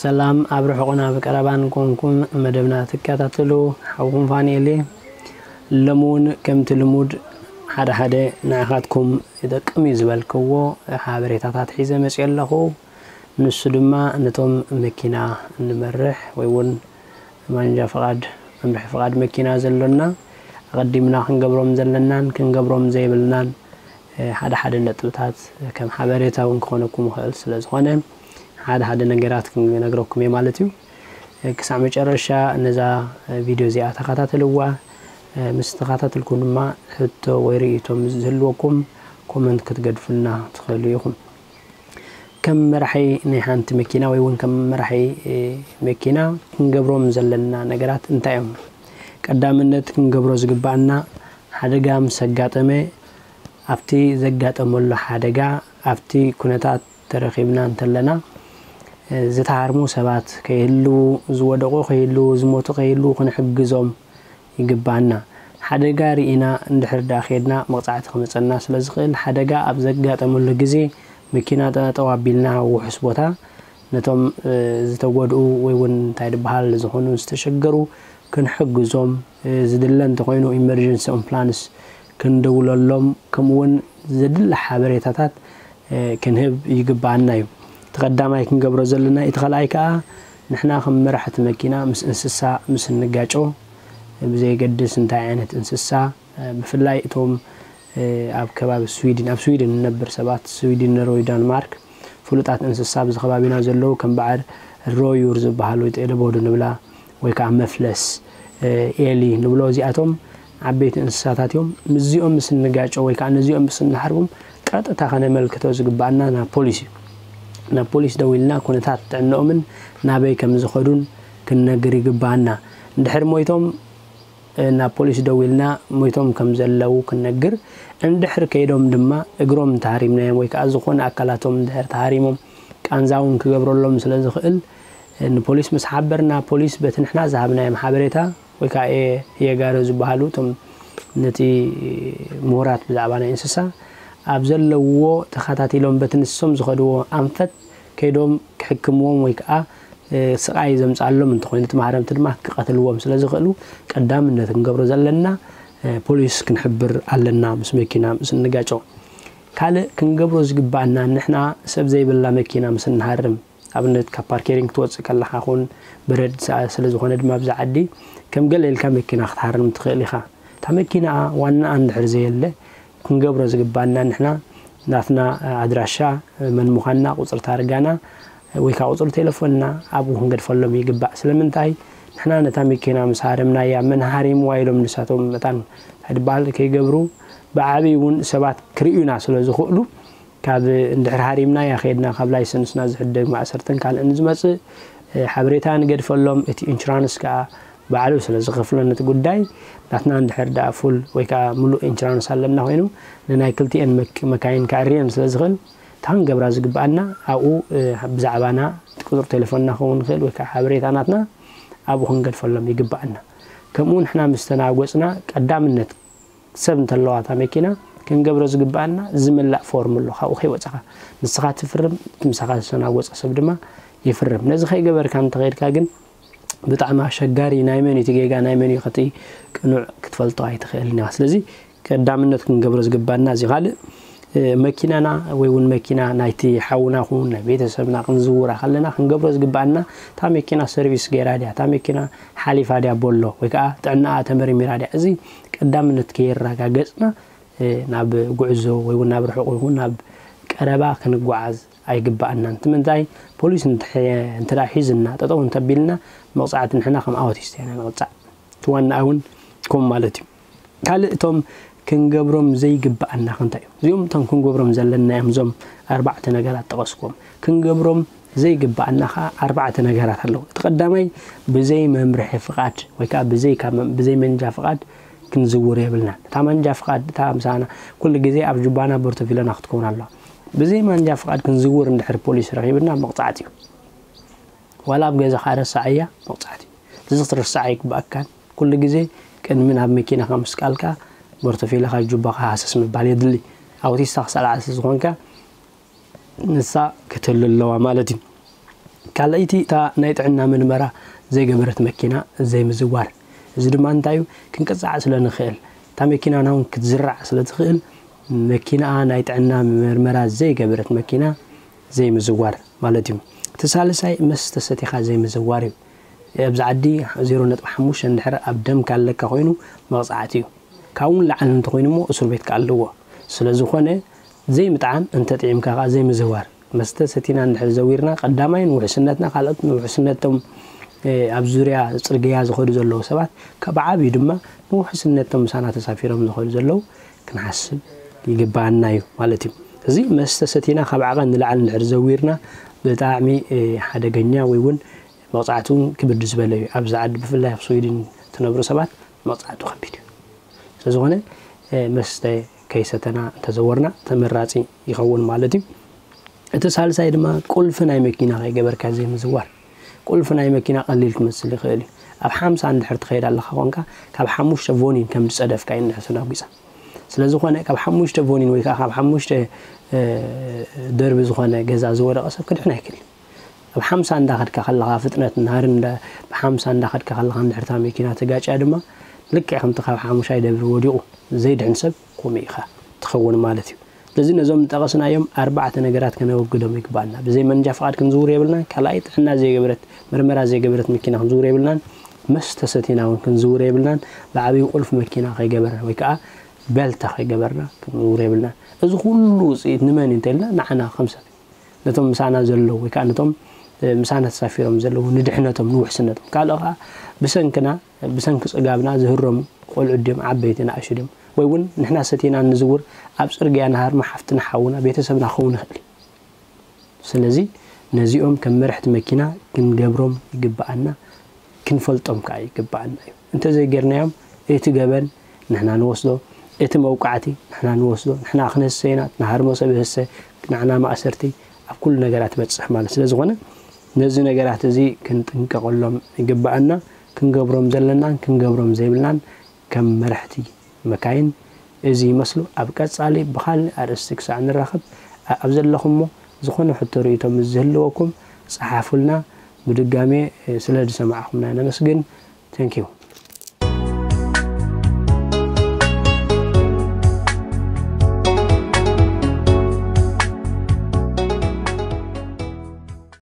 ሰላም ኣብ ርሑቕን ኣብ ቀረባን ኮንኩም መደብና ትከታተሉ ሓውኹም ፋንኤል እየ። ሎሚ እውን ከምቲ ልሙድ ሓደ ሓደ ንዓኻትኩም ይጠቅም እዩ ዝበልክዎ ሓበሬታታት ሒዘ መፅእ ኣለኹ። ንሱ ድማ ነቶም መኪና እንመርሕ ወይ እውን ማንጃ ፍቓድ መምርሒ ፍቓድ መኪና ዘሎና ኣቐዲምና ክንገብሮም ዘለናን ክንገብሮም ዘይብልናን ሓደ ሓደ ነጥብታት ከም ሓበሬታ እውን ክኾነኩም ይኽእል ስለ ዝኾነ ሓደ ሓደ ነገራት ክነግረኩም እየ ማለት እዩ። ክሳዕ መጨረሻ ነዛ ቪድዮ እዚኣ ተኸታተልዋ። ምስ ተኸታተልኩም ድማ ሕቶ ወይ ርእይቶ ምስ ዝህልወኩም ኮመንት ክትገድፉልና ትኽእሉ ኢኹም። ከም መራሒ ናይ ሓንቲ መኪና ወይ እውን ከም መራሒ መኪና ክንገብሮም ዘለና ነገራት እንታይ እዮም? ቀዳምነት ክንገብሮ ዝግባኣና ሓደጋ ምስ ኣጋጠመ ኣብቲ ዘጋጠመሉ ሓደጋ ኣብቲ ኩነታት ተረኺብና እንተለና ዝተሃርሙ ሰባት ከይህልዉ፣ ዝወደቑ ከይህልዉ፣ ዝሞቱ ከይህልዉ ክንሕግዞም ይግባኣና። ሓደጋ ርኢና እንድሕር ደኣ ከድና መቕጻዕቲ ክመጸና ስለ ዝኽእል ሓደጋ ኣብ ዘጋጠመሉ ግዜ መኪና ጠጠው ኣቢልና ውሑስ ቦታ ነቶም ዝተጎድኡ ወይ እውን እንታይ ዝበሃል ዝኾኑ ዝተሸገሩ ክንሕግዞም ዝድለ እንተኾይኑ ኢመርጀንሲ ኣምቡላንስ ክንደውለሎም ከምኡ እውን ዘድሊ ሓበሬታታት ክንህብ ይግባኣና እዩ። እቲ ቀዳማይ ክንገብሮ ዘለና እቲ ካልኣይ ከዓ ንሕና ከም መራሕቲ መኪና ምስ እንስሳ ምስ እንጋጮ ብዘየገድስ እንታይ ዓይነት እንስሳ ብፍላይ እቶም ኣብ ከባቢ ስዊድን ኣብ ስዊድን ንነብር ሰባት ስዊድን ኖርወይ ዳንማርክ ፍሉጣት እንስሳ ኣብዚ ከባቢና ዘለዉ ከም በዓል ሮዩር ዝበሃል ወይ ጤለቦዱ ንብላ ወይ ከዓ መፍለስ ኤሊ ንብሎ እዚኣቶም ዓበይቲ እንስሳታት እዮም። ምስዚኦም ምስ እንጋጮ ወይ ከዓ ነዚኦም ምስ እንሓርቦም ቀጥታ ከነመልክቶ ዝግባኣና ናብ ፖሊስ እዩ። ናብ ፖሊስ ደዊልና ኩነታት ጥዕንኦምን ናበይ ከም ዝኸዱን ክንነግር ይግባኣና። እንድሕር ሞይቶም ናብ ፖሊስ ደዊልና ሞይቶም ከም ዘለዉ ክንነግር፣ እንድሕር ከይዶም ድማ እግሮም እንተሃሪምናዮም ወይ ከዓ ዝኾነ ኣካላቶም እንድሕር ተሃሪሞም ቃንዛ እውን ክገብረሎም ስለ ዝኽእል ንፖሊስ ምስ ሓበርና ፖሊስ በቲ ንሕና ዝሃብናዮም ሓበሬታ ወይ ከዓ የጋሮ ዝበሃሉ እቶም ነቲ ምሁራት ብዛዕባ ናይ እንስሳ ኣብ ዘለውዎ ተኸታቲሎም በቲ ንሶም ዝኸድዎ ኣንፈት ከይዶም ክሕክምዎም ወይ ከዓ ስቓይ ዘምፅኣሎም እንተኾይኑ እቲ ማህረምቲ ድማ ክቐትልዎም ስለ ዝኽእሉ ቀዳምነት ክንገብሮ ዘለና ፖሊስ ክንሕብር ኣለና ምስ መኪና ምስ እንጋጨው። ካልእ ክንገብሮ ዝግባኣና ንሕና ሰብ ዘይብላ መኪና ምስ እንሃርም ኣብነት ካብ ፓርኬሪንግ ክትወፅእ ከለኻ ኹን በረድ ስለ ዝኾነ ድማ ኣብዚ ዓዲ ከም ገለ ኢልካ መኪና ክትሃርም ትኽእል ኢኻ። እታ መኪና ዋናኣ እንድሕር ዘየለ ክንገብሮ ዝግባኣና ንሕና ናትና ኣድራሻ መን ምዃንና ቁፅሪ ታርጋና ወይ ከዓ ቁፅሪ ቴሌፎንና ኣብኡ ክንገድፈሎም ይግባእ። ስለምንታይ ንሕና ነታ መኪና ምስ ሃረምናያ መን ሃሪምዋ ኢሎም ንሳቶም መታን እንታይ ዝበሃል ከይገብሩ ብዓብዪ እውን ሰባት ክርእዩና ስለ ዝኽእሉ ካብ እንድሕር ሃሪምናያ ከይድና ካብ ላይሰንስና ዝሕደግ ማእሰርትን ካልእን ዝመፅእ ሓበሬታ ንገድፈሎም። እቲ ኢንሹራንስ ከዓ ባዕሉ ስለ ዝኸፍሎ ነቲ ጉዳይ ናትና እንድሕር ደኣ ፉል ወይ ከዓ ሙሉእ ኢንሹራንስ ኣለና ኮይኑ ንናይ ክልቲኤን መካይን ከዕርየን ስለ ዝኽእል እታ ክንገብራ ዝግበኣና ኣብኡ ብዛዕባና እቲ ቁፅሪ ቴሌፎንና ክኸውን ይኽእል ወይ ከዓ ሓበሬታ ናትና ኣብኡ ክንገድፈሎም ይግበኣና። ከምኡ ንሕና ምስ ተናጎፅና ቀዳምነት ሰብ እንተለዋ እታ መኪና ክንገብሮ ዝግበኣና ዝምላእ ፎርም ኣሎ ካብኡ ከይወፀኻ ንስኻ ትፍርም እቲ ምሳኻ ዝተናጎፀ ሰብ ድማ ይፍርም። ነዚ ከይገበርካ እንተኸይድካ ግን ብጣዕሚ ኣሸጋሪ ናይ መን እቲ ጌጋ ናይ መን እዩ ከቲ ቅኑዕ ክትፈልጦ ኣይትኽእልን ኢኻ። ስለዚ ቀዳምነት ክንገብሮ ዝግባና እዚ ካልእ መኪናና ወይ እውን መኪና ናይቲ ሓውና ኹን ናይ ቤተሰብና ክንዝውራ ከለና ክንገብሮ ዝግባና እታ መኪና ሰርቪስ ገይራ ድያ እታ መኪና ሓሊፋ ድያ ቦሎ ወይ ከዓ ጥዕናኣ ተመርሚራ ድያ እዚ ቀዳምነት ከየረጋገፅና ናብ ጉዕዞ ወይ እውን ናብ ርሑቕ ይኹን ናብ ቀረባ ክንጓዓዝ ኣይግባኣናን። እቲ ምንታይ ፖሊስ እንተ ሒዝና ጠጠው እንተቢልና መቕፃዕቲ ንሕና ከም ኣውቲስት ኢና ንቕፃዕ። እቲ ዋናኣ እውን ከምኡ ማለት እዩ። ካልእ እቶም ክንገብሮም ዘይግባኣና እንታይ እዮም? እዚኦም እቶም ክንገብሮም ዘለና እዮም። እዞም ኣርባዕተ ነገራት ጠቐስኩዎም። ክንገብሮም ዘይግባኣና ከዓ ኣርባዕተ ነገራት ኣለዉ። እቲ ቀዳማይ ብዘይ መምርሒ ፍቓድ ወይ ከዓ ብዘይ ካብ መም- ብዘይ መንጃ ፍቓድ ክንዝውር የብልናን። እታ መንጃ ፍቓድ እታ ምሳና ኩሉ ግዜ ኣብ ጁባና ቦርቶፊሎና ክትከውን ኣለዋ። ብዘይ መንጃ ፍቓድ ክንዝውር እንድሕር ፖሊስ ረኺብና መቕፃዕቲ እዩ። ዋላ ኣብ ገዛኻ ረሳዓያ መቕፃዕቲ እዩ። እዚ ክትርስዓ ኣይግባኣካን። ኩሉ ግዜ ቅድሚ ናብ መኪናኻ ምስቃልካ ቦርቶፊሎኻ ጁባኻ ሃሰስ ምባል የድሊ። ኣውቲስታ ክሳልዓ ስለ ዝኾንካ ንሳ ክትህሉ ኣለዋ ማለት እዩ። ካልኣይቲ እታ ናይ ጥዕና ምርመራ ዘይገበረት መኪና ዘይምዝዋር። እዚ ድማ እንታይ እዩ? ክንቅጻዕ ስለ ንኽእል፣ እታ መኪናና እውን ክትዝራዕ ስለ ትኽእል፣ መኪናኣ ናይ ጥዕና ምርመራ ዘይገበረት መኪና ዘይምዝዋር ማለት እዩ። እቲ ሳልሳይ መስተ ሰቲኻ ዘይምዝዋር እዩ። ኣብዚ ዓዲ ዜሮ ነጥቢ ሓሙሽተ እንድሕር ኣብ ደምካ ኣለካ ኮይኑ መቕጻዕቲ እዩ። ካብኡ ንላዕሊ እንተኾይኑ እሞ እስር ቤት ከኣ ኣለዎ። ስለ ዝኾነ ዘይምጥዓም፣ እንተጥዒምካ ከኣ ዘይምዝዋር። መስተ ሰቲና እንድሕር ዘዊርና፣ ቀዳማይ ንውሕስነትና፣ ካልኦት ንውሕስነቶም ኣብ ዙርያ ጽርግያ ዝኸዱ ዘለዉ ሰባት፣ ካብ ዓብዩ ድማ ንውሕስነቶም ምሳና ተሳፊሮም ዝኸዱ ዘለዉ ክንሓስብ ይግባኣና እዩ ማለት እዩ። እዚ መስተ ሰቲና ካብ ዓቐን ንላዕሊ እንድሕር ዘዊርና ብጣዕሚ ሓደገኛ ወይ እውን መቕጻዕቲ እውን ክብድ ዝበለ እዩ። ኣብዚ ዓዲ ብፍላይ ኣብ ስዊድን ትነብሩ ሰባት መቕጻዕቱ ከቢድ እዩ። ስለዝኾነ መስተ ከይሰተና እንተዘወርና ተመራጺ ይኸውን ማለት እዩ። እቲ ሳልሳይ ድማ ቁልፊ ናይ መኪና ከይገበርካ ዘይምዝዋር። ቁልፊ ናይ መኪና ቀሊል ክመስል ይኽእል እዩ። ኣብ ሓምሳ እንድሕር ትኸይድ ኣለኻ ኮንካ ካብ ሓሙሽተ ቮኒን ከም ዝጸደፍካ እዩ እንድሕር ተናጒጻ። ስለዝኾነ ካብ ሓሙሽተ ቮኒን ወይ ከዓ ካብ ሓሙሽተ ደርቢ ዝኾነ ገዛ ዝወደቐ ሰብ ክድሕን ኣይክእል። ኣብ ሓምሳ እንዳኸድካ ከለኻ ፍጥነት ናህሪ እንዳ ብሓምሳ እንዳኸድካ ከለኻ እንድሕርታ መኪና ተጋጭያ ድማ ልክዕ ከምቲ ካብ ሓሙሻይ ደብሪ ወዲቑ ዘይድሕን ሰብ ከምኡ ኢኻ ትኸውን ማለት እዩ። ስለዚ ነዞም ዝጠቐስናዮም ኣርባዕተ ነገራት ከነወግዶም ይግባኣና። ብዘይ መንጃ ፍቓድ ክንዝውር የብልናን። ካልኣይ ጥዕና ዘይገበረት መርመራ ዘይገበረት መኪና ክንዝውር የብልናን። መስተ ሰቲና እውን ክንዝውር የብልናን። ብዓብዩ ቁልፊ መኪና ከይገበርና ወይ ከዓ ቤልታ ከይገበርና ክንዝውር የብልናን። እዚ ኩሉ ውፅኢት ንመን እዩ እንተኢልና ንዓና ከም ሰብ ነቶም ምሳና ዘለዉ ወይ ከዓ ነቶም ምሳና ተሳፊሮም ዘለዉ ንድሕነቶም ንውሕስነቶም ካልኦ ከዓ ብሰንክና ብሰንኪ ፅጋብና ዝህረሙ ቆልዑ ድዮም ዓበይቲ ንኣሹ ድዮም ወይ እውን ንሕና ሰቲና ንዝውር ኣብ ፅርግያ ንሃርማ ሓፍትና ሓውና ቤተሰብና ክኸውን ይኽእል እዩ። ስለዚ ነዚኦም ከም መርሕቲ መኪና ክንገብሮም ይግብኣና። ክንፈልጦም ከዓ ይግብኣና እዩ። እንተዘይጌርናዮም እቲ ገበን ንሕና ንወስዶ፣ እቲ መውቃዕቲ ንሕና ንወስዶ። ንሕና ክንህሰ ኢና፣ ንሃርሞ ሰብ ይህሰ፣ ንዓና ማእሰርቲ ኣብ ኩሉ ነገራት ይበፅሕ ማለት ስለ ዝኾነ ነዚ ነገራት እዚ ክንጥንቀቐሎም ይግብኣና። ክንገብሮም ዘለናን ክንገብሮም ዘይብልናን ከም መራሕቲ መካይን እዚ ይመስሉ። ኣብ ቀፃሊ ብኻልእ ኣርእስቲ ክሳዕ ንራኸብ ኣብ ዘለኹሞ ዝኾነ ሕቶ ርእይቶ ምስ ዝህልወኩም ፀሓፉልና። ብድጋሜ ስለ ዝሰማዕኹምና ነመስግን። Thank you።